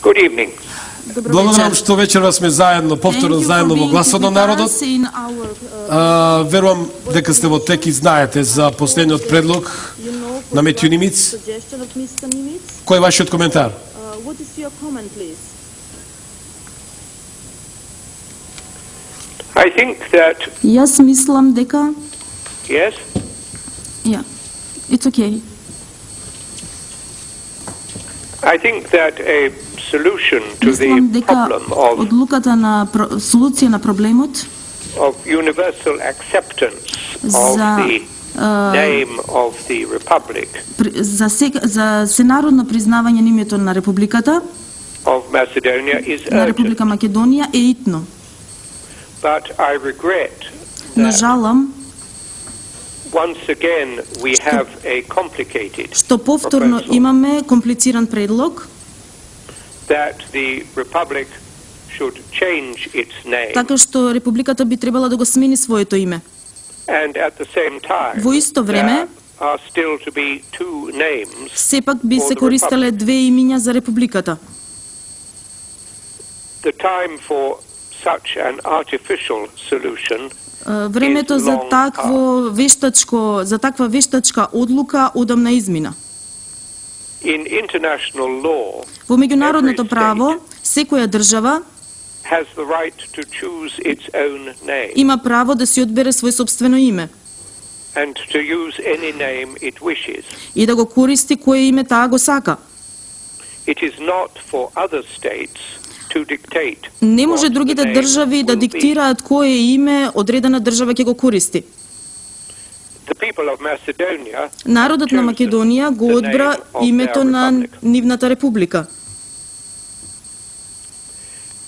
Good evening. Благодарам што вечерва сме заедно, повторно заедно во гласот на народот. Верувам дека сте во тек и знаете за последниот предлог на Метју Нимиц. Кој е вашиот коментар? I think that Јас мислам дека yes, it's okay. I think that a solution to Мислам the дека problem of одлуката на солуција на проблемот universal acceptance of за the name of the republic за сенародно признавање на името на републиката of Macedonia is на urgent. Република Македонија е итно. But I regret Но that жалам once again we have a complicated што повторно proposal имаме комплициран предлог, that the republic should change its name така што републиката би требала да го смени своето име. and at the same time Во исто време there are still to be two names. сепак би For се the користеле две имиња за републиката. The time for such an artificial solution Времето за таква вештачка одлука одамна измина. in international law Во меѓународното every право, секоја држава has the right to choose its own name има право да си одбере свој сопствено име and to use any name it wishes. и да го користи кое име таа го сака. It is not for other states to dictate Не може what другите the name држави да will be. диктираат кое име одредена држава ќе го користи. The people of Macedonia Народот на chose Македонија го the одбра name of името their на republic. нивната република.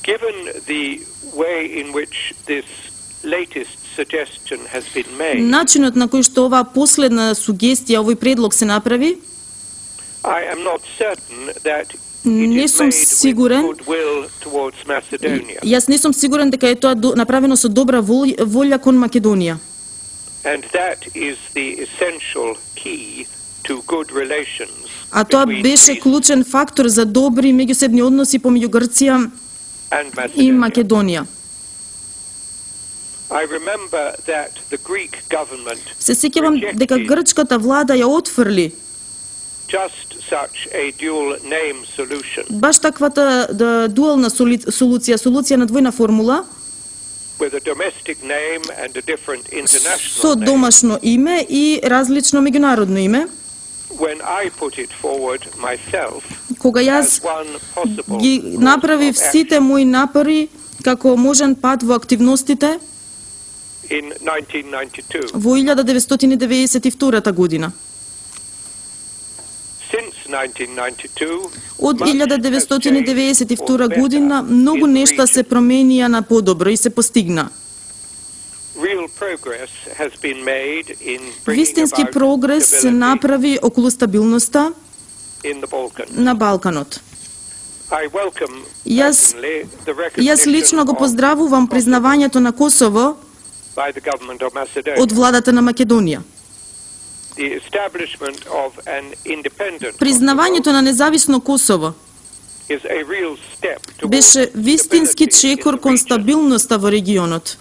Given the way in which this latest suggestion has been made, Начинот на кој што оваа последна сугестија, овој предлог се направи, I am not certain that Не it is сум made with сигурен. goodwill towards Macedonia. Јас не сум сигурен дека е тоа направено со добра волја кон Македонија. And that is the essential key to good relations А тоа between беше Greece клучен фактор за добри меѓусебни односи помеѓу Грција and и Macedonia. Македонија. I remember that the Greek government Се сеќавам дека rejected грчката влада ја отфрли just such a dual name solution баш таквата дуална солуција на двојна формула with a domestic name and a different international со name. домашно име и различно меѓународно име. When I put it forward myself Кога as јас one possible ги course направив of сите action мои напори како можен пат во активностите in 1992. во 1992 година. Since 1992, Од much has changed 1992 for година better многу in the нешта се region. променија на подобро и се постигна. Real progress has been made in bringing Вистински about прогрес се stability направи околу стабилноста in the Balkans. на Балканот. I welcome Јас personally the Јас лично го recognition поздравувам признавањето на Косово by the government of Macedonia. од владата на Македонија. The establishment of an independent Признавањето на независно Косово Kosovo is a real step towards беше вистински stability in чекор the кон region. стабилноста во регионот.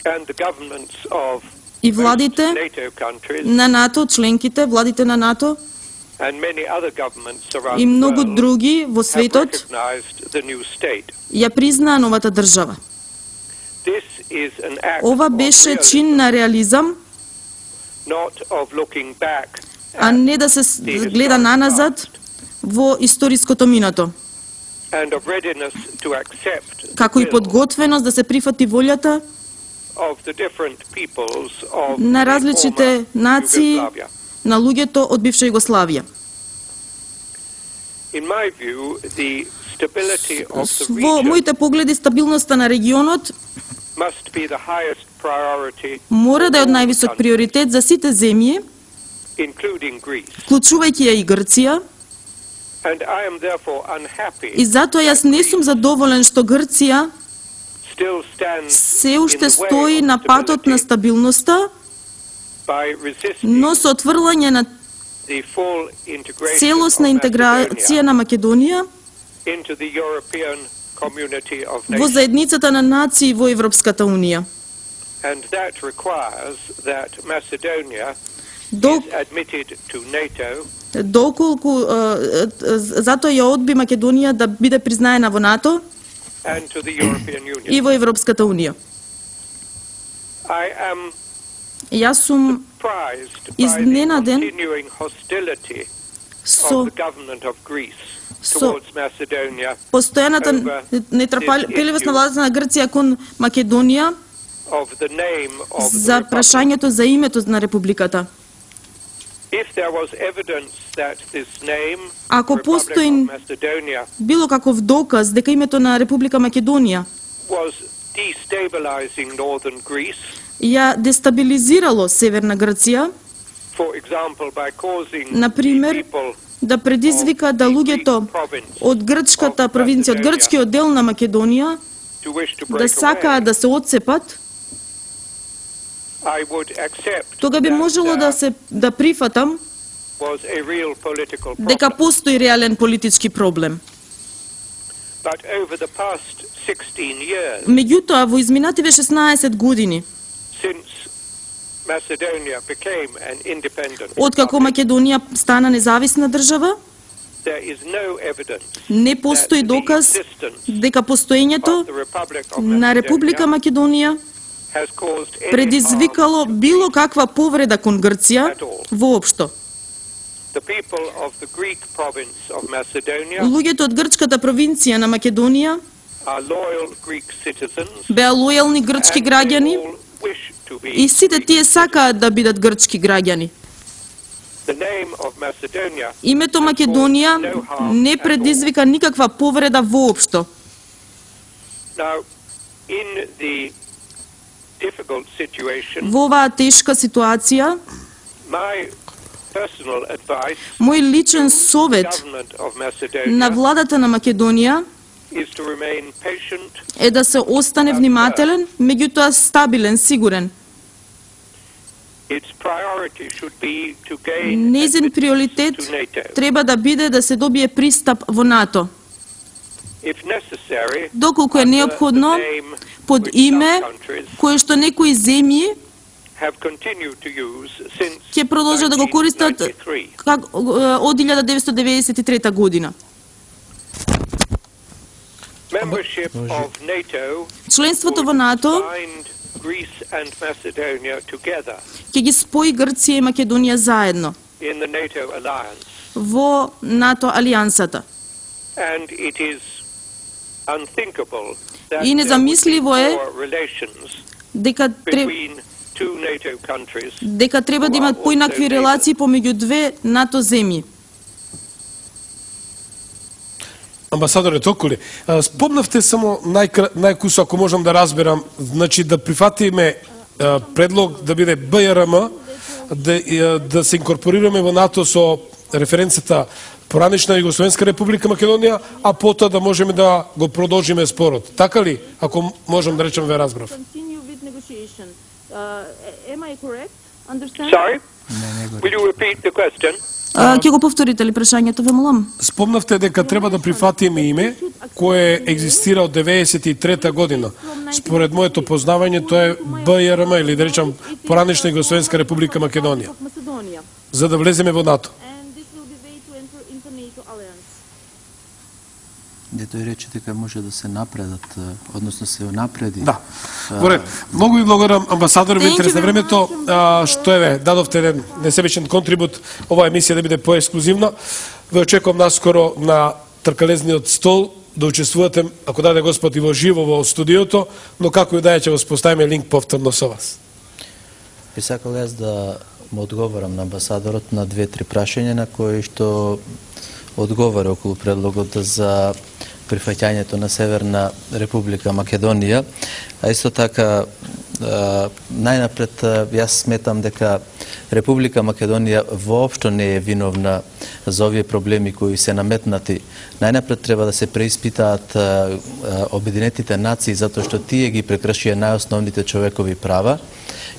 And the governments of И most владите NATO countries на НАТО, членките, владите на НАТО and many other governments around и the многу world други во have светот recognized the new state. ја признаа новата држава. This is an act Ова of беше realism, чин на реализам, not of looking back а не да се the гледа historic наназад past, во историското минато, and of readiness to accept the како и will подготвеност да се прифати волјата of the different peoples of на the различите former нации Yugoslavia. на луѓето од бивша Југославија. In my view, the stability of the Во region моите погледи, стабилноста на регионот must be the highest priority, мора да е од for all највисок countries, приоритет за сите земји, including Greece. вклучувајќи ја и Грција, And I am therefore unhappy и затоа јас не сум задоволен што Грција still stands се in уште the way стои of на патот на stability стабилноста, by resisting но со отврлање на the full integration целосна of интеграција Macedonia на Македонија into the European community of во nations. заедницата на нации во Европската унија. And that requires that Macedonia Док- is admitted to NATO Доколку затоа ја одби Македонија да биде признаена во НАТО and to the European Union. и во Европската унија. I am Јас сум surprised by the Изненаден continuing hostility со of the government of Greece со towards Macedonia постојаната нетрпеливост на владата на Грција кон Македонија of the name of the за republic. прашањето за името на републиката. If there was evidence that this name, Ако Republic постои of Macedonia, било каков доказ дека името на Република Македонија was destabilizing northern Greece, ја дестабилизирало Северна Грција, for example, by causing Например, the people да предизвика да луѓето од грчката провинција, од грчкиот дел на Македонија, to wish to да break сакаат away, да се одцепат, I would accept тога би that можело да прифатам was a real political дека problem. постои реален политички проблем. But over the past 16 years, Меѓутоа, во изминативе 16 години, since Macedonia became an independent откако republic, Македонија стана независна држава, there is no evidence не постои that the доказ existence дека постоењето of the Republic of на Република Macedonia Македонија has caused any предизвикало harm to било каква повреда кон Грција воопшто. the people of the Greek province of Macedonia Луѓето од грчката провинција на Македонија are loyal Greek citizens беа лојални грчки and they граѓани all wish to be и сите Greek тие citizens. сакаат да бидат грчки граѓани. The name of Macedonia Името Македонија не предизвика никаква повреда воопшто. Now, in the difficult situation, Во оваа тешка ситуација, my personal advice мој личен to the совет government of на Macedonia владата на Македонија is to remain patient е да се остане внимателен, меѓутоа стабилен, сигурен. Its priority should be to gain Незин admittance приоритет to NATO. треба да биде да се добие пристап во НАТО. If necessary, Доколку е under неопходно, the name под which име some countries кое што некои земји have continued to use since ќе продолжат да го користат 1993. од 1993 година. Membership of NATO Членството во would НАТО bind Greece and Macedonia together ќе ги спои Грција и Македонија заедно in the NATO alliance, во НАТО алијансата. and it is unthinkable that И незамисливо е there would be poor relations дека between two NATO countries. дека треба да имат поинакви релации помеѓу две НАТО земји. Амбасадоре Токоли, спомнавте само најкусо, ако можам да разберам, значи да прифатиме предлог да биде БРМ, да се инкорпорираме во НАТО со референцията поранешна Југословенска република Македонија, а потоа да можеме да го продолжиме спорот. Така ли, ако можам да речем ве разбрав? Sorry? Will you repeat the question? Ќе го повторите ли прашањето, ве молам? Спомнавте дека треба да прифатиме име кое екзистира од 93 година. Според моето познавање тоа е БРМ или да речам поранешна Југословенска република Македонија, за да влеземе во НАТО. Де тој рече дека може да се напредат, односно се напреди. Да. Горед, многу ви благодарам, амбасадор, во интерес на времето, што еве, дадовте еден несебичен контрибут, оваа емисија да биде поексклузивна. Ве очекувам наскоро на тркалезниот стол да учествувате, ако даде Господ, и во живо во студиото, но како и да е, ќе го споставиме линк повторно со вас. Би сакал јас да му одговорам на амбасадорот на 2-3 прашања на кои што одговара околу предлогот за прифаќањето на Северна Република Македонија, а исто така најнапред јас сметам дека Република Македонија воопшто не е виновна за овие проблеми кои се наметнати. Најнапред треба да се преиспитаат Обединетите нации затоа што тие ги прекршија најосновните човекови права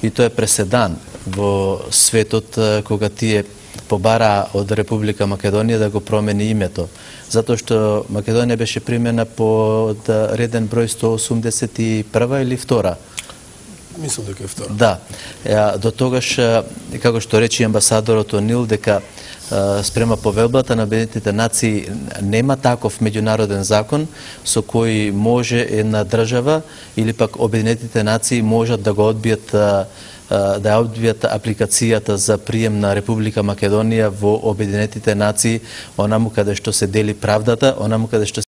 и тоа е преседан во светот кога тие побара од Република Македонија да го промени името, затоа што Македонија беше примена под реден број 181 или 2. Мислам дека е втора. Да. До тогаш, како што рече амбасадорот Онил, дека спрема повелбата на Обединетите нации нема таков меѓународен закон со кој може една држава или пак Обединетите нации можат да го одбијат апликацијата за прием на Република Македонија во Обединетите нации, онаму каде што се дели правдата, онаму каде што